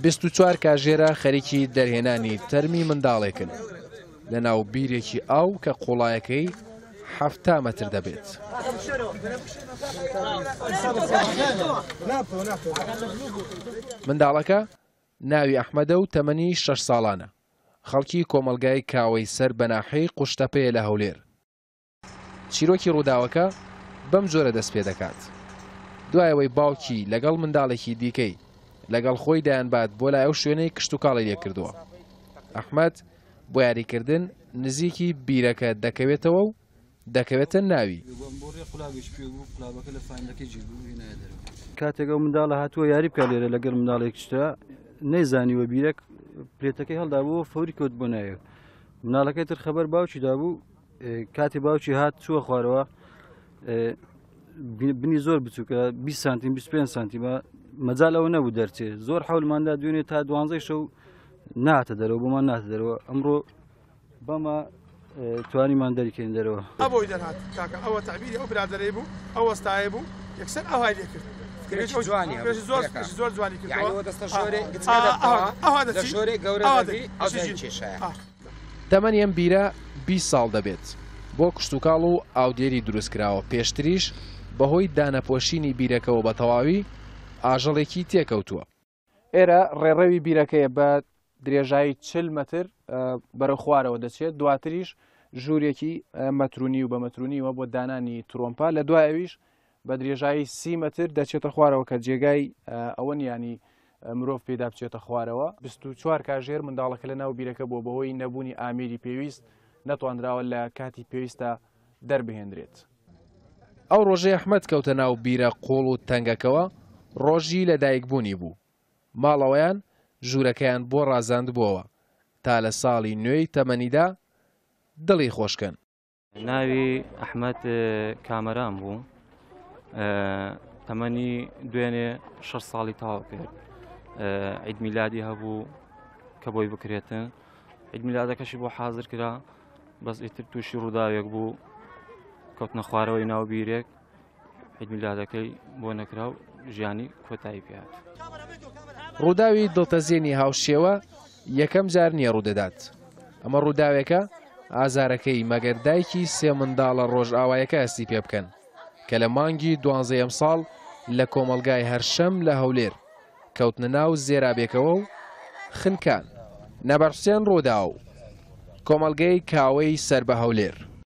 24 کاژێرە خەریکی دەرهێنانی تەرمی منداڵێکن لە ناو بیرێکی ئاو کە قوڵایەکەی 70 مەتر دەبێت. منداڵەکە ناوی ئەحمەدە و تەمەنی 6 ساڵانە، خەڵکی کۆمەڵگای کاوەی سەر بە ناحیەی قوشتەپەیە لە هەولێر. چیرۆکی ڕووداوەکە بەم جۆرە دەست پێ دەکات، دوای ئەوەی باوکی لەگەڵ منداڵێکی دیکەی لەگەڵ خۆی دەیانبات بۆ لای ئەو شوێنەی کشتوکاڵی لێ کردووە، ئەحمەد بۆ یاریکردن نزیکی بیرەکە دەکەوێتەوە و دەکەوێتە ناوی. کاتێک ئەو منداڵە هاتووە یاری بکات لێرە لەگەڵ منداڵێکیشدا نەیزانیوە بیرەک پلێتەکەی هەڵدابوو فەوری کەوت بۆ ناوێ. مناڵەکەی تر خەبەر باوکی دابوو، کاتی باوکی هات چووە خوارەوە، بنی زۆر بچووکە، 20 سانتیم 25 سانتیمە، مەجال ئەوە نەبوو دەرچێ. زۆر حەولماندا دوێنێ تا 12 شەو ناتە دەرەوە، بۆمان ناتە دەرەوە. ئەمڕۆ بەمە توانیمان دەریکەین دەرەوە. ئەبۆی دەرهات کاکە، ئەوە تعبیری ئەو برادەرەی بوو، ئەو وەستایە بوو، یەکسەر ئەوهای لێ کرد. زۆر جوانی کردەوە. تەمەنی ئەم بیرە 20 ساڵ دەبێت، بۆ کشتوکاڵ و ئاودێری دروست کراوە، پێشتریش بەهۆی دانەپۆشینی بیرەکەوە بە تەواوی ئاژەڵێکی تێکەوتووە. ئێرە ڕێڕەوی بیرەکەیە بە درێژایی 40 مەتر بەرەو خوارەوە دەچێت، دواتریش ژوورێکی مەترونی و بە مەترونیوە بۆ دانانی ترۆمپا، لە دوای ئەویش بە درێژایی 30 مەتر دەچێتە خوارەوە کە جێگای ئەوە نیانی مرۆڤ پێدا بچێتە خوارەوە. 24 کاژێر منداڵەکە لە ناو بیرەکە بووە، بەهۆی نەبوونی ئامێری پێویست نەتوانراوە لە کاتی پێویستە دەربهێنرێت. ئەو ڕۆژەی ئەحمەد کەوتە ناو بیرە قوڵ و تەنگەکەوە ڕۆژی لەدایکبوونی بوو. ماڵەوەیان ژوورەکەیان بۆ ڕازاندبووەوە تا لە ساڵی نوێی تەمەنیدا دڵی خۆشکەن. ناوی ئەحمەد کامەران بوو، تەمەنی دوێنێ 6 ساڵی تەواو کرد. عید میلادی هەبوو کە بۆی بکرێتن، عید میلادەکەشی بۆ حاضر کرا، بەس ئیتر تووشی ڕووداوێک بوو، کەوتنە خوارەوەی ناو بیرێک، عید میلادەکەی بۆ نەکرا و ژیانی کۆتایی پێهات. ڕووداوی دڵتەزێنی هاوشێوە یەکەم جار نییە ڕوودەدات. ئەمە ڕووداوێکە ئازارەکەی مەگەر دایکی سێ منداڵە ڕۆژئاوایەکە هەستی پێ بکەن کە لە مانگی دوانزەی ئەمساڵ لە کۆمەڵگای هەرشەم لە هەولێر کەوتنە ناو زێرابێکەوە و خنکان. نەبەر حوسێن، ڕووداو، کۆمەڵگەی کاوەی سەر بە هەولێر.